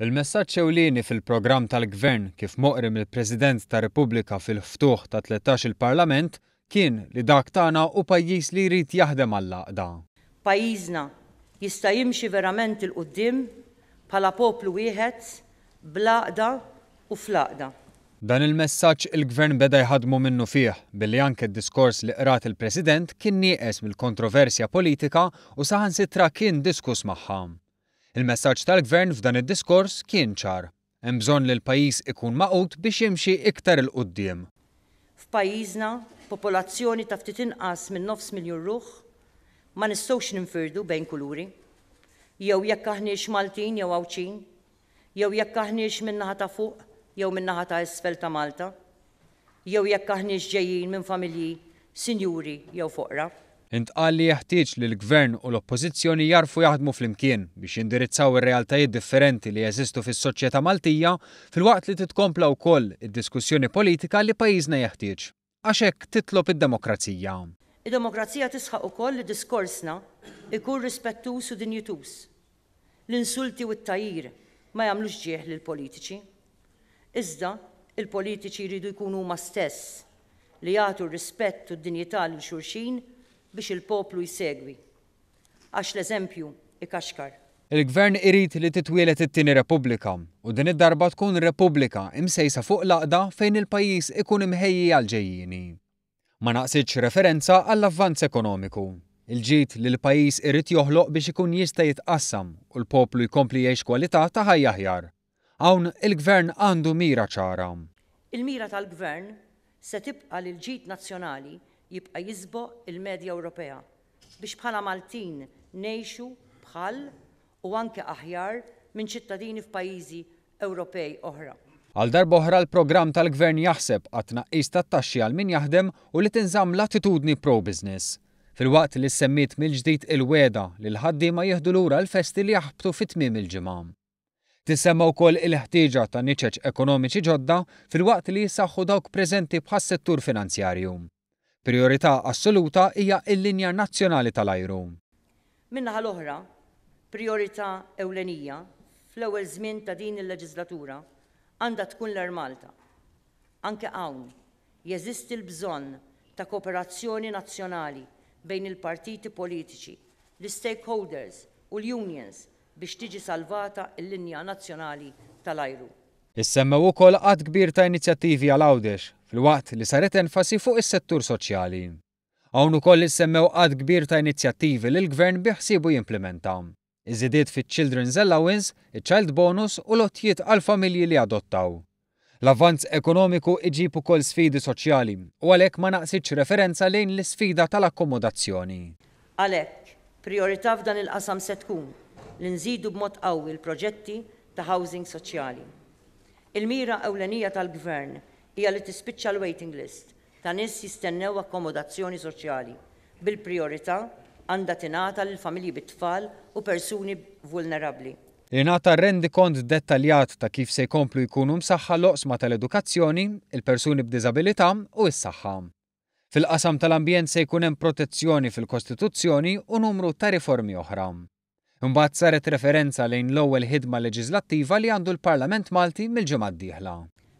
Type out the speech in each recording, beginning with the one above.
Il-messaġġ ewlieni fil-programm tal-Gvern kif moqri mill-President tar-Repubblika fil-ftuħ ta' 13-il Parlament kien li dak tagħna hu pajjiż li jrid jaħdem għall-għaqda. Pajjiżna jista' jimxi verament 'il quddiem bħala poplu wieħed bl-għaqda u fl-għaqda. Dan il-messaġġ il-Gvern beda jħaddmu minnufih billi anke d-diskors li qrat il-President kien nieqes mill-kontroversja politika u saħansitra kien diskuss magħha. Il-messaġġ tal-Gvern f'dan id-diskors kien ċar. Hemm bżonn li l-pajjiż ikun magħqud biex jimxi iktar 'il quddiem. F'pajjiżna, b'popolazzjoni ta' ftit inqas minn nofs miljun ruħ, ma nistgħux ninfirdu bejn kuluri, jew jekk aħniex Maltin jew Għawdxin, jew jekk aħniex min-naħa ta' fuq jew min-naħa ta' isfel ta' Malta, jew jekk aħniex ġejjin minn familji sinjuri jew foqra. Intqal li jeħtieġ li l-Gvern u l-Oppożizzjoni jagħrfu jaħdmu flimkien biex jindirizzaw ir-realtajiet differenti li jeżistu fis-soċjetà Maltija filwaqt li titkompla wkoll id-diskussjoni politika li pajjiżna jeħtieġ. Għax hekk titlob id-demokrazija. Id-demokrazija tisħaq ukoll li diskorsna jkun rispettuż u dinjituż. L-insulti u t-tgħajjir ma jagħmlux ġieħ lill-politiċi. Iżda, il-politiċi jridu jkunu huma stess li jagħtu r-rispett u d-dinjità lil xulxin biex il-poplu jsegwi. Għax l-eżempju ikaxkar. Il-Gvern irid li titwieled it-tieni Repubblika, u din id-darba tkun Repubblika imsejsa fuq l-għaqda fejn il-pajjiż ikun imħejji għall-ġejjieni. Ma naqsitx referenza għall-avvanz ekonomiku, il-ġid li l-pajjiż irid joħloq biex ikun jista' jitqassam u l-poplu jkompli jgħix kwalità ta' ħajja aħjar. Hawn il-Gvern għandu mira ċara. Il-mira tal-Gvern se tibqa' li l-ġid nazzjonali jibqa' jisboq il-medja Ewropea biex bħala Maltin ngħixu bħal u anke aħjar minn ċittadini f'pajjiżi Ewropej oħra. Għal darb'oħra l-programm tal-Gvern jaħseb għat-tnaqqis tat-taxxi għal min jaħdem u li tinżamm l-attitudni pro-business. Filwaqt li ssemmiet mill-ġdid il-wegħda li l-ħaddiema jieħdu lura l-festi li jaħbtu fi tmiem il-ġimgħa. Tissemma wkoll il-ħtieġa ta' niċeċ ekonomiċi ġodda filwaqt li jissaħħu dawk preżenti bħas-settur finanzjarju. Prijorità assoluta hija l-linja nazzjonali tal-ajru. Min-naħa l-oħra, prijorità ewlenija fl-ewwel żmien ta' din il-leġiżlatura għandha tkun l-Air Malta. Anke hawn, jeżisti l-bżonn ta' kooperazzjoni nazzjonali bejn il-partiti politiċi, l-istakeholders u l-unions biex tiġi salvata l-linja nazzjonali tal-ajru. Issemmew ukoll għadd kbir ta' inizjattivi għal Għawdex, filwaqt li saret enfasi fuq is-settur soċjali. Hawn ukoll issemmew għadd kbir ta' inizjattivi li l-Gvern bi ħsiebu jimplimenta. Iż-żidiet fiċ-Children's Allowance, iċ-Child Bonus u l-għotjiet għall-familji li jadottaw. L-avvanz ekonomiku iġib ukoll sfidi soċjali u għalhekk ma naqsitx referenza lejn l-isfida tal-akkomodazzjoni. Għalhekk, prijorità f'dan il-qasam se tkun li nżidu b'mod qawwi l-proġetti ta' housing soċjali. Il-mira ewlenija tal-Gvern hija li tispiċċa l-waiting list ta' nies jistennew akkomodazzjoni soċjali, bil-prijorità għandha tingħata lil familji bit-tfal u persuni vulnerabbli. Ingħata rendikont dettaljat ta' kif se jkomplu jkunu msaħħa l-oqsma tal-edukazzjoni, il-persuni b'diżabilità u s-saħħa. Fil-qasam tal-ambjent se jkun hemm protezzjoni fil-Kostituzzjoni u numru ta' riformi oħra. Imbagħad saret referenza lejn l-ewwel ħidma leġiżlattiva li għandu l-Parlament Malti mill-ġimgħa d-dieħla.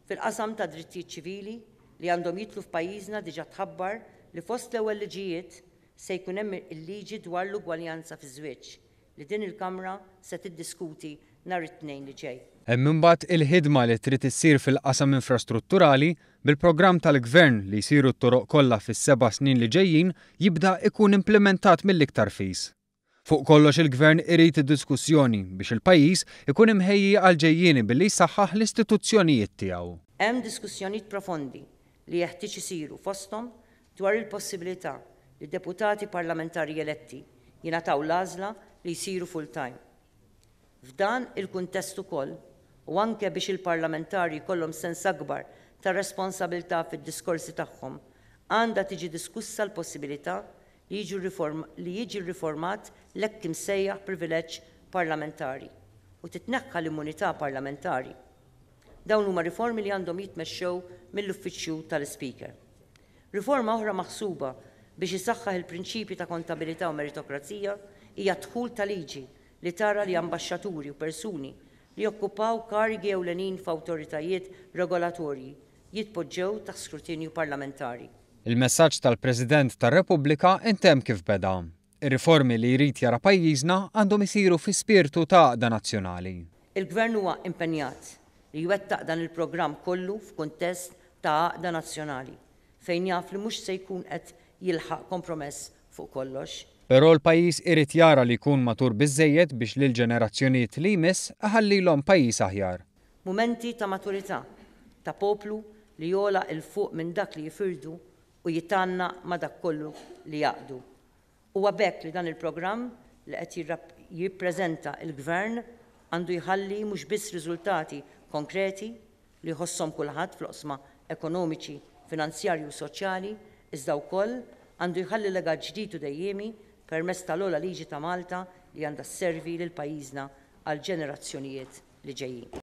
Fil-qasam tad-drittijiet ċivili li għandhom jidħlu f'pajjiżna diġà tħabbar li fost l-ewwel liġijiet se jkun hemm il-liġi dwar l-ugwaljanza fiż-żwieġ li din il-Kamra se tiddiskuti nhar it-Tnejn li ġej. Hemm imbagħad il-ħidma li trid issir fil-qasam infrastrutturali bil-programm tal-Gvern li jsiru t-toroq kollha fis-seba' snin li ġejjin jibda ikun implimentat mill-iktar fis. Fuq kollox il-Gvern irid diskussjoni biex il-pajjiż ikun imħejji għall-ġejjieni billi jsaħħaħ l-istituzzjonijiet tiegħu. Hemm diskussjonijiet profondi li jeħtieġ isiru fosthom dwar il-possibilità li deputati parlamentari eletti jingħataw l-għażla li jsiru full-time. F'dan il-kuntest ukoll, u anke biex il-parlamentari jkollhom sens akbar ta' responsabilità fid-diskorsi tagħhom, għandha tiġi diskussa l-possibilità li jiġu li jiġi rriformat l-hekk imsejjaħ privileġġ parlamentari u titneħħa l-immunità parlamentari. Dawn huma riformi li għandhom jitmexxew mill-Uffiċċju tal-Ispeaker. Riforma oħra maħsuba biex isaħħaħ il-prinċipji ta' kontabilità u meritokrazija hija d-dħul ta' liġi li tara li ambaxxaturi u persuni. li jokkupaw karigi ewlenin f'awtoritajiet regolatorji jitpoġġew taħt skrutinju parlamentari. Il-messaġġ tal-President tar-Repubblika intemm kif beda. Ir-riformi li jrid jara pajjiżna għandhom isiru fi spirtu ta' għaqda nazzjonali. Il-Gvern huwa impenjat li jwettaq dan il-programm kollu f'kuntest ta' għaqda nazzjonali, fejn jaf li mhux se jkun qed jilħaq kompromess fuq kollox. Però l-pajjiż irid jara li jkun matur biżżejjed biex lill-ġenerazzjonijiet li jmiss iħallilhom pajjiż aħjar. Mumenti ta' maturità, ta' poplu li jogħla 'l fuq minn dak li jifirdu u jitgħannaq ma' dak kollu li jgħaqqdu. Huwa b'hekk li dan il-programm li qed jippreżenta l-Gvern għandu jħalli mhux biss riżultati konkreti li jħosshom kulħadd fl-oqsma ekonomiċi, finanzjarji u soċjali iżda wkoll għandu jħalli legat ġdid u dejjiemi permezz tal-ogħla liġi ta' Malta li għandha sservi lil pajjiżna għall-ġenerazzjonijiet li ġejjin.